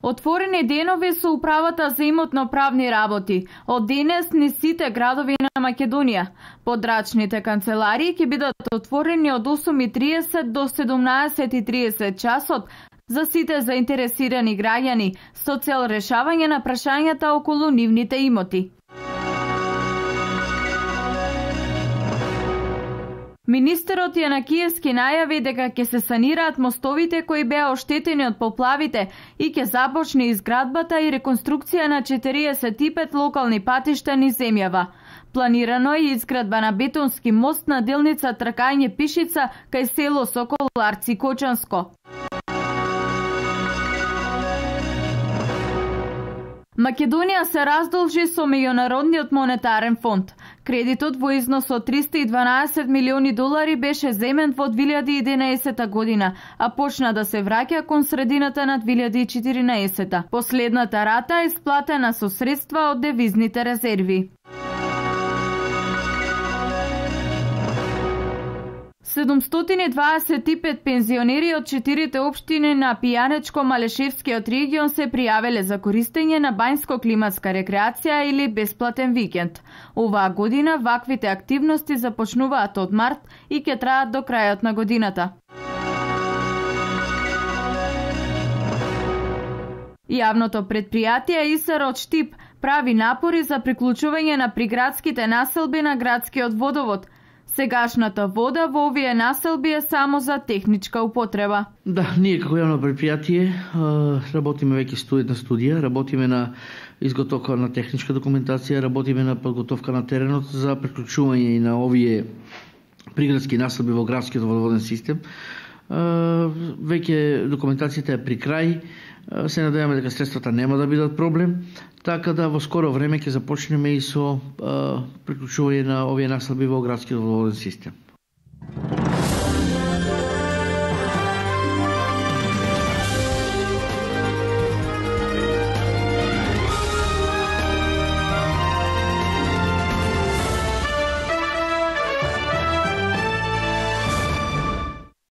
Отворени денови со управата за имотно-правни работи. Од денес низ сите градови на Македонија. Подрачните канцеларии ќе бидат отворени од 8:30 до 17:30 часот за сите заинтересирани граѓани со цел решавање на прашањата околу нивните имоти. Министерот Јанакиевски најави дека ќе се санираат мостовите кои беа оштетени од поплавите и ќе започне изградбата и реконструкција на 45 локални патишта низ земјава. Планирано е изградба на бетонски мост на делница Тракање-Пишица кај село Соколарци Кочанско. Македонија се раздолжи со Меѓународниот монетарен фонд. Кредитот во износ од $312 милиони беше земен во 2011 година, а почна да се враќа кон средината на 2014. Последната рата е исплатена со средства од девизните резерви. 725 пензионери од 4 општини на Пијанечко-Малешевскиот регион се пријавиле за користење на бањско-климатска рекреација или бесплатен викенд. Оваа година ваквите активности започнуваат од март и ќе траат до крајот на годината. Јавното предпријатие ИСР Штип прави напори за приклучување на приградските населби на градскиот водовод. Сегашната вода во овие населби е само за техничка употреба. Да, ние како јавно предпријатие работиме веќе на студија, работиме на изготовка на техничка документација, работиме на подготовка на теренот за приклучување и на овие приградски населби во градскиот водоводен систем. Веќе документацијата е при крај. Се надеваме дека средствата нема да бидат проблем, така да во скоро време ќе започнеме и со приклучување на овие населби во градскиот водоводен систем.